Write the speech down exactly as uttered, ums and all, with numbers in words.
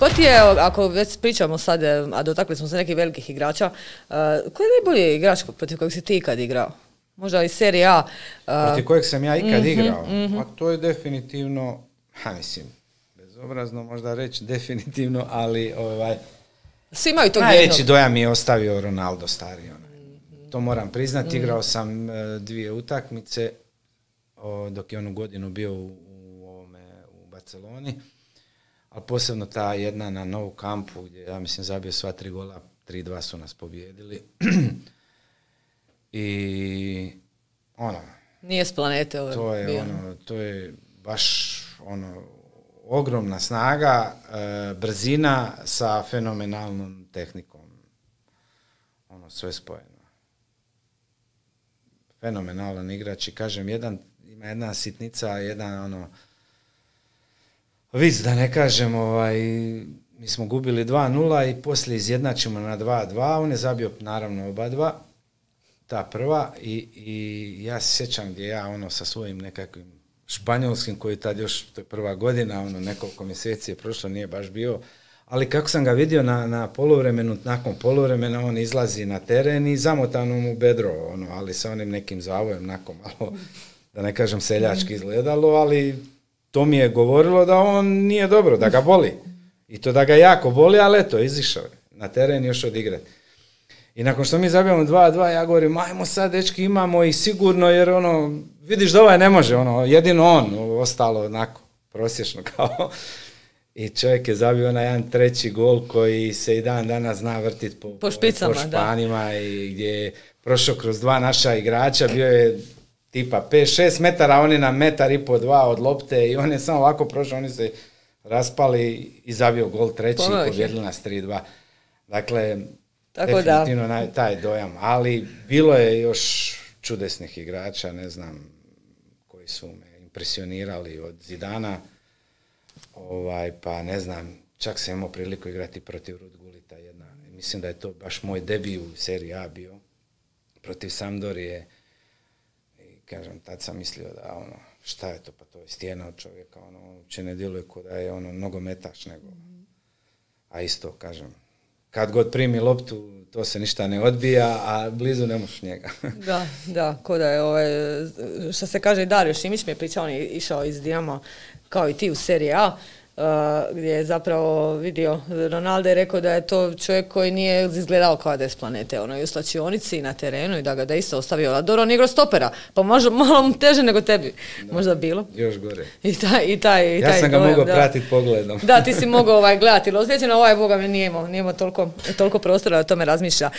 Ko ti je, ako već pričamo sad, a dotakli smo se nekih velikih igrača, uh, ko je najbolji igrač protiv kojeg si ti ikad igrao? Možda iz serije A. Uh, protiv kojeg sam ja ikad mm-hmm, igrao? Mm-hmm. A to je definitivno, ha mislim, bezobrazno možda reći definitivno, ali ovaj, svi imaju tog najveći jednog. dojam mi je ostavio Ronaldo stari. Onaj. To moram priznati, mm-hmm. igrao sam uh, dvije utakmice o, dok je on u godinu bio u, u, ovome, u Barceloni. Ali posebno ta jedna na Nou Campu gdje ja mislim zabio sva tri gola, tri dva su nas pobijedili. I ono... Nije s planete ovo to je bio. ono, to je baš ono, ogromna snaga, e, brzina sa fenomenalnom tehnikom. Ono, sve spojeno. Fenomenalan igrač i kažem, jedan, ima jedna sitnica, jedan ono... Vic, da ne kažem, ovaj, mi smo gubili dva nula i poslije izjednačimo na dva dva, on je zabio naravno oba dva, ta prva, i, i ja se sjećam gdje ja ono sa svojim nekakvim španjolskim, koji tad još, to je prva godina, ono nekoliko mjeseci je prošlo, nije baš bio, ali kako sam ga vidio na, na poluvremenu, nakon poluvremena on izlazi na teren i zamotano mu bedro, ono, ali sa onim nekim zavojem, nakon malo, da ne kažem seljački izgledalo, ali... To mi je govorilo da on nije dobro, da ga boli. I to da ga jako boli, ali eto, izišao je na teren još odigrati. I nakon što mi zabijamo dva dva, ja govorim, ajmo sad, dečki, imamo i sigurno, jer ono, vidiš da ovaj ne može, ono, jedino on, ostalo onako, prosječno kao. I čovjek je zabio onaj jedan treći gol koji se i dan danas zna vrtiti po, po špicama, po španima, da. I gdje je prošao kroz dva naša igrača, bio je tipa pet šest metara, oni na metar i po dva od lopte i on je samo ovako prošao, oni se raspali i zabio gol treći i pobjedili nas tri dva. Dakle, tako definitivno da. Taj dojam, ali bilo je još čudesnih igrača, ne znam, koji su me impresionirali od Zidana, ovaj, pa ne znam, čak sam imao priliku igrati protiv Ruud Gullita jedna. Mislim da je to baš moj debi u seriji A bio, protiv Sampdorije. Kažem, tad sam mislio da ono, šta je to, pa to je stijena od čovjeka, ono, uopće ne djeluje ko da je ono nogometaš, nego, a isto, kažem, kad god primi loptu, to se ništa ne odbija, a blizu ne možeš njega. Da, da, ko da je, ovaj, što se kaže, Dario Šimić mi je pričao, on je išao iz Dinama, kao i ti u seriji A, Uh, gdje je zapravo vidio Ronaldo i rekao da je to čovjek koji nije izgledao kao da je s planete, ono, i u slačionici i na terenu i da ga da isto ostavio. A dobro, on igrao stopera, pa možda malo mu teže nego tebi, da, možda bilo. Još gore. I taj, i taj, i ja taj sam ga dojam, mogao da. pratiti pogledom. Da, ti si mogao ovaj, gledati, ali osjećano ovaj Boga mi nije imao, nije imao toliko, toliko prostora da o tome razmišlja.